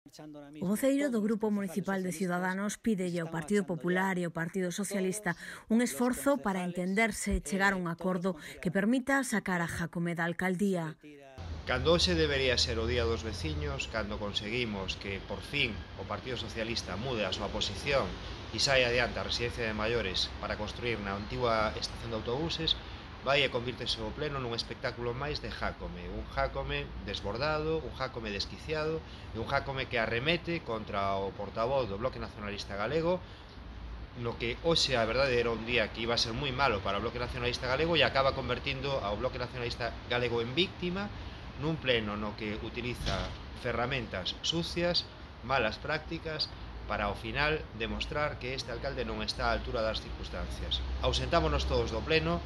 O voceiro do Grupo Municipal de Ciudadanos pídelle ao Partido Popular e ao Partido Socialista un esforzo para entenderse e chegar a un acordo que permita sacar a Jácome da alcaldía. Cando hoxe debería ser o Día dos Veciños, cando conseguimos que, por fin, o Partido Socialista mude a súa posición e saia adiante a residencia de maiores para construir na antigua estación de autobuses, vai e convírtese o pleno nun espectáculo máis de Jácome, un Jácome desbordado, un Jácome desquiciado e un Jácome que arremete contra o portavoz do Bloque Nacionalista Galego, no que hoxe a verdade era un día que iba a ser moi malo para o Bloque Nacionalista Galego e acaba convertindo ao Bloque Nacionalista Galego en víctima nun pleno no que utiliza ferramentas sucias, malas prácticas, para ao final demostrar que este alcalde non está á altura das circunstancias. Ausentámonos todos do pleno,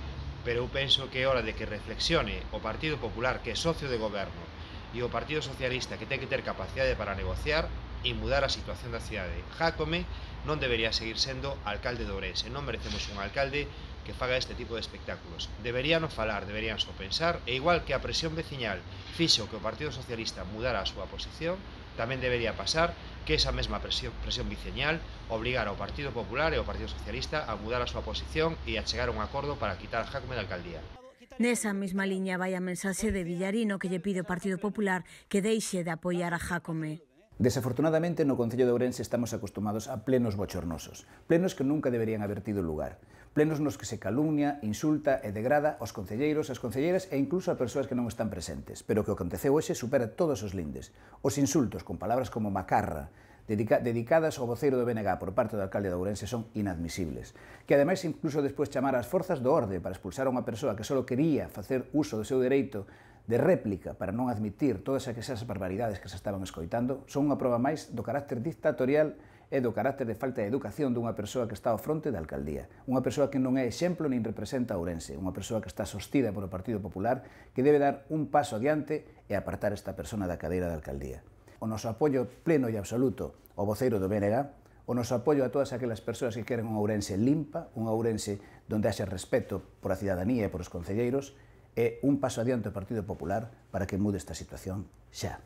pero eu penso que é hora de que reflexione o Partido Popular, que é socio de goberno, e o Partido Socialista, que ten que ter capacidade para negociar e mudar a situación da cidade. Jácome non debería seguir sendo alcalde de Ourense. Non merecemos un alcalde que faga este tipo de espectáculos. Deberían falar, deberían só pensar, e igual que a presión veciñal fixo que o Partido Socialista mudara a súa posición, tamén debería pasar que esa mesma presión veciñal obligara ao Partido Popular e ao Partido Socialista a mudar a súa posición e a chegar a un acordo para quitar Jácome da alcaldía. Nesa mesma liña vai a mensaxe de Villarino que lle pide ao Partido Popular que deixe de apoiar a Jácome. Desafortunadamente, no Concello de Ourense estamos acostumados a plenos bochornosos, plenos que nunca deberían haber tido lugar, plenos nos que se calumnia, insulta e degrada aos concelleiros, as concelleiras e incluso a persoas que non están presentes, pero que o que aconteceu hoxe supera todos os lindes. Os insultos con palabras como macarra, dedicadas ao voceiro do BNG por parte do alcalde de Ourense son inadmisibles. Que ademais incluso despois chamar ás forzas do orde para expulsar a unha persoa que só quería facer uso do seu dereito de réplica para non admitir todas aquelas barbaridades que se estaban escoitando son unha proba máis do carácter dictatorial e do carácter de falta de educación dunha persoa que está ao fronte da alcaldía. Unha persoa que non é exemplo nin representa a Ourense, unha persoa que está sostida polo Partido Popular que debe dar un paso adiante e apartar esta persona da cadeira da alcaldía. O noso apoio pleno e absoluto ao voceiro do BNG, o noso apoio a todas aquelas persoas que queren unha Ourense limpa, unha Ourense donde haxa respeto por a cidadanía e por os concelleiros, e un paso adiante ao Partido Popular para que mude esta situación xa.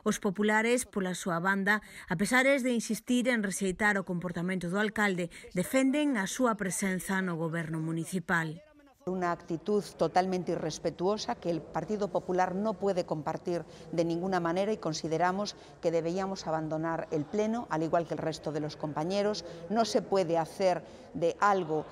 Os populares, pola súa banda, a pesares de insistir en rexeitar o comportamento do alcalde, defenden a súa presenza no goberno municipal. Una actitud totalmente irrespetuosa que el Partido Popular no puede compartir de ninguna manera y consideramos que deberíamos abandonar el Pleno, al igual que el resto de los compañeros. No se puede hacer de algo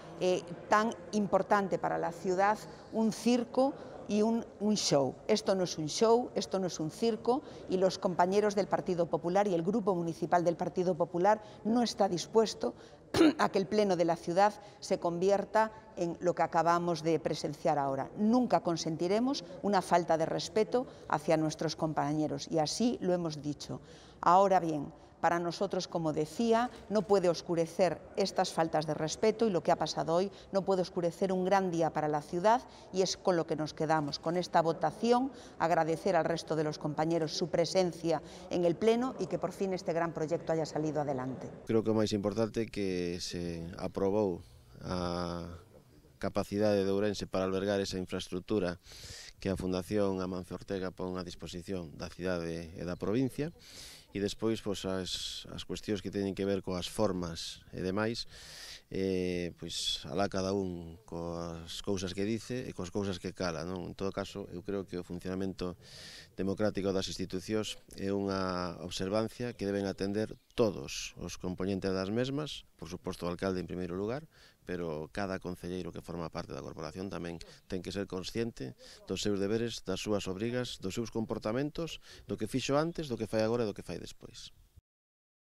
tan importante para la ciudad un circo y un show. Esto no es un show, esto no es un circo y los compañeros del Partido Popular y el Grupo Municipal del Partido Popular no está dispuesto a que el Pleno de la ciudad se convierta en lo que acabamos de presenciar ahora. Nunca consentiremos una falta de respeto hacia nuestros compañeros y así lo hemos dicho. Ahora bien, para nosotros, como decía, no puede oscurecer estas faltas de respeto y lo que ha pasado hoy no puede oscurecer un gran día para la ciudad y es con lo que nos quedamos, con esta votación, agradecer al resto de los compañeros su presencia en el Pleno y que por fin este gran proyecto haya salido adelante. Creo que o máis importante é que se aprobou a capacidade de Ourense para albergar esa infraestructura que a Fundación Amancio Ortega pon a disposición da cidade e da provincia. E despois as cuestións que teñen que ver coas formas e demais, alá cada un coas cousas que dice e coas cousas que cala, non? En todo caso, eu creo que o funcionamento democrático das institucións é unha observancia que deben atender todos os componentes das mesmas, por suposto o alcalde en primeiro lugar, pero cada concelleiro que forma parte da corporación tamén ten que ser consciente dos seus deberes, das súas obrigas, dos seus comportamentos, do que fixo antes, do que fai agora e do que fai despois.